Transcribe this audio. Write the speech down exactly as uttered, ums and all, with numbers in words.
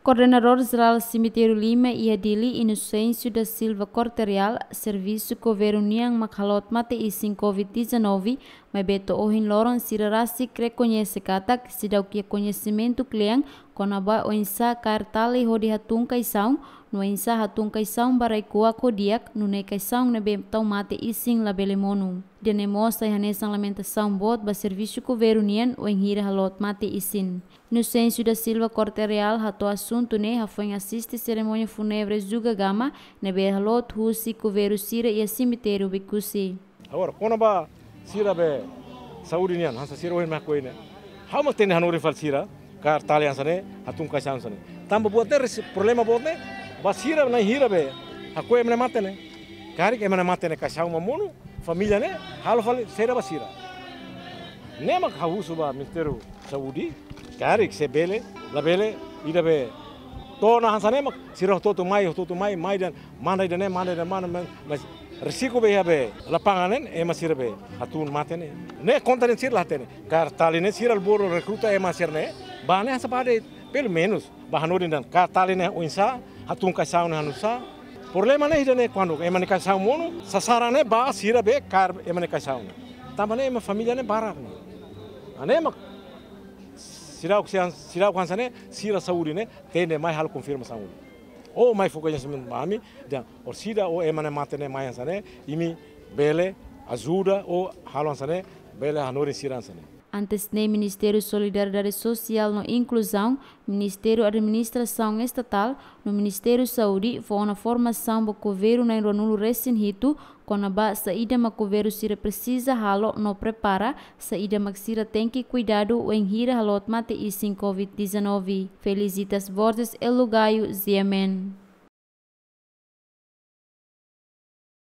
Koordenadór Jerál Semitériu Lima iha Dili, Inocêncio da Silva Corte-Real, servisu governu nian mak haloot mate-isin covid dezanove, maibé to'o ohin loron sira rasik rekoñese katak seidauk iha koñesimentu kle'an kona-ba oinsá kaer tali hodi hatún kaixaun, no oinsá hatún kaixaun ba rai-kuak ho di'ak, nune'e kaixaun ne'ebé tau mate-isin labele monu. Ida-ne'e mós sai hanesan lamentasaun boot ba servisu governu nian wainhira haloot mate-isin. Inocêncio da Silva Corte-Real hato'o asuntu ne'e hafoin asiste serimónia fúnebre Juga Gama ne'ebé haloot husi governu sira iha semitériu Oekusi. Agora, kona-ba sira be saúde nian, hanesan sira ohin mak hakoi ne'e. Ha'u mak hatene hanorin fali sira kaer tali hanesan ne'e, hatún kaixaun hanesan ne'e. Tanba buat ne'e resi-, problema boot ne'e ba sira na'in hira be hakoi ema ne'e mate ne'e. Karik ema ne'e mate ne'e kaixaun mak monu, família ne'e halo fali saida ba sira. Ne'e mak ha'u husu ba Ministériu Saúde, karik se bele, labele, ida be to'o ona hanesan ne'e mak sira hotu-hotu mai, hotu-hotu mai, mai dehan manda ida-ne'e, manda ida-ne'e, manda, manda, mas risku be iha be lapangan ne'e, ema sira be hatún mate ne'e. Ne'e konta dehan sira la hatene. Kaer tali ne'e sira bolu rekruta ema sira ne'e, ba ne'e hanesan ba de'it, pelumenus ba hanorin dehan kaer tali ne'e oinsá, hatún kaixaun ne'e hanesan. Problema ne'e ida-ne'e kuandu ema nia kaixaun monu, sasaran ne'e ba sira be kaer ema nia kaixaun ne'e. Tanba ne'e ema família ne'e barak ne'e. Ne'e mak seidauk, seidauk hanesan ne'e, sira saúde ne'e tenke mai halo konfirmasaun. Ou mai fó koñesimentu ba ami, dehan orsida ou ema ne'e mate ne'e mai hanesan ne'e, imi bele ajuda ou halo hanesan ne'e, bele hanorin sira hanesan ne'e. Antes ne'e Ministériu Solidariedade Sosiál no Inkluzaun, Ministériu Administrasaun Estatál, no Ministériu Saúde fó ona formasaun ba governu na'in ruanulu-resin-hitu kona-ba saida mak governu sira presiza halo no prepara saida mak sira tenke kuidadu wainhira haloot mate-isin covid dezanove. Felicitas Borges, Elo Gayo, G M N.